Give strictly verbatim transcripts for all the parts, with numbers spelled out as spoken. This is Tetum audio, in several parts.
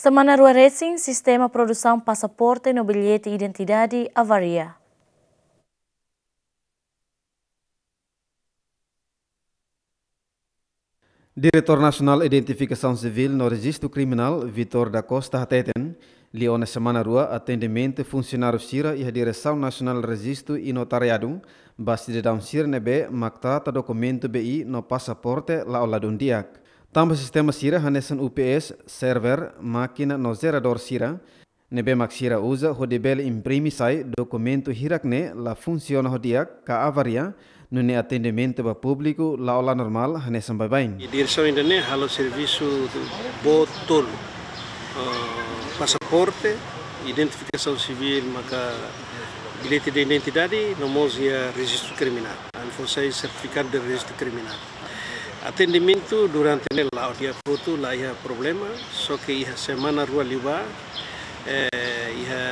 Semana rua resin, sistema produsaun pasaporte no billete identidade avaria. Diretór Nasionál Identifikasaun Sivíl no Rejistu Kriminál, Vitor da Costa hateten, liu ona semana rua atendimentu funsionáriu sira iha Diresaun Nasionál Rejistu i Notariadu, ba sidadaun sira ne'ebé mak trata dokumentu B I no pasaporte la'o ladún di'ak. Tanba sistema sira hanesan U P S, server, mákina no jeradór sira, ne'ebé mak sira uza hodi bele imprime sai dokumentu hirak ne'e la funsiona ho di'ak ka avaria, nune'e atendimentu ba públiku la'o la normál hanesan baibain. I diresaun ida-ne'e halo servisu boot tolu. Ah, pasaporte, identifikasaun sivíl, maka billete de identidade, no mós iha rejistu kriminál. Ami fó sai sertifikadu de rejistu kriminál. Atendimentu durante ne'e la'o di'ak hotu, la iha problema, só ke iha semana rua liubá, eh, iha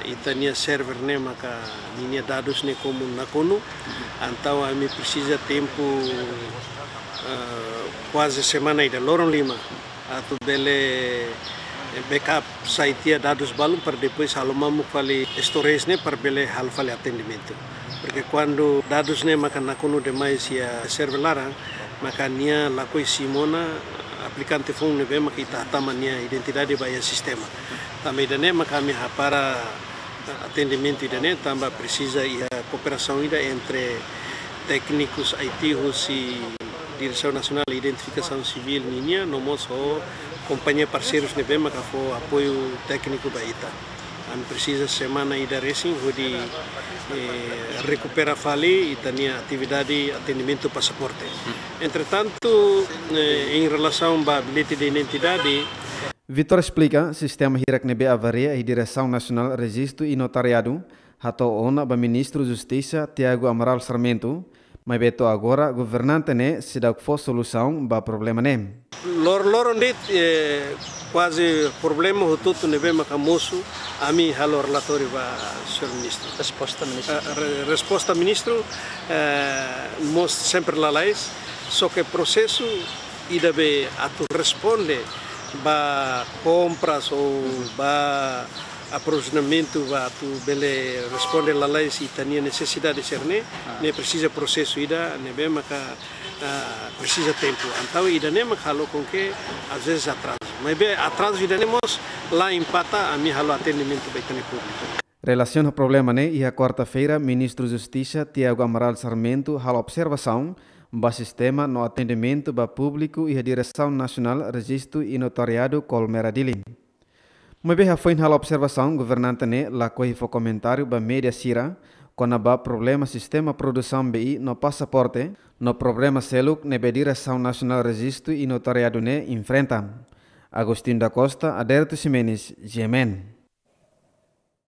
ita-nia server ne'e maka ninia dadus ne'e komu nakonu, entaun ami presiza tempu, eh, kuaze semana ida, loron lima, atu bele, eh, backup sai tiha dadus balun para depois halo mamuk fali storage ne'e para bele halo fali atendimentu. Porque kuandu dadus ne'e maka nakonu demais iha server laran, maka nia lakohi simu ona aplikante foun ne'ebé maka ita hatama nia identidade ba iha sistema. Tanba ida-ne'e maka ami hapara atendimentu ida-ne'e, tanba presiza iha kooperasaun ida entre téknikus I T husi Diresaun Nasionál Identifikasaun Sivíl ninia, no mós ho kompañia parseirus ne'ebé maka fó apoiu tékniku ba ita. Ami presiza semana ida resin hodi, eh, rekupera fali ita-nia atividade atendimentu pasaporte. Entretantu, eh, em relasaun ba billete de identidade, Vitor esplika, sistema hirak ne'ebé avaria iha Diresaun Nasionál Rejistu i Notariadu, hato'o ona ba Ministru Justisa Tiago Amaral Sarmento, maibé to'o agora governante ne'e seidauk fó solusaun ba problema ne'e. Lor-, loron de'it, eh, kuaze problema hotu-hotu ne'ebé maka mosu, ami halo relatóriu ba señór ministru. Resposta ministru. Eh, re-, resposta ministru, eh, mós sempre lalais, só ke prosesu ida be atu responde ba kompras ou ba aprovizionamentu ba atu bele responde lalais ita-nia nesesidade sira-ne'e, ne'e presiza prosesu ida ne'ebé maka, ah, presiza tempu. Entaun ida-ne'e maka halo com que às vezes atrazu. Maibé atrazu ida-ne'e mós la impata ami halo atendimentu ba ita-nia públiku. Relasiona ho problema ne'e, iha kuarta-feira, Ministru Justisa Tiago Amaral Sarmento halo observasaun ba sistema no atendimentu ba públiku iha Diresaun Nasionál Rejistu i Notariadu Colmera Dili. Maibé hafoin halo observasaun, governante ne'e lakohi fó komentáriu ba média sira kona-ba problema sistema produsaun B I no pasaporte, no problema seluk ne'ebé Diresaun Nasionál Rejistu i Notariadu ne'e enfrenta. Agostinho da Costa, Aderito Ximenes, G M N.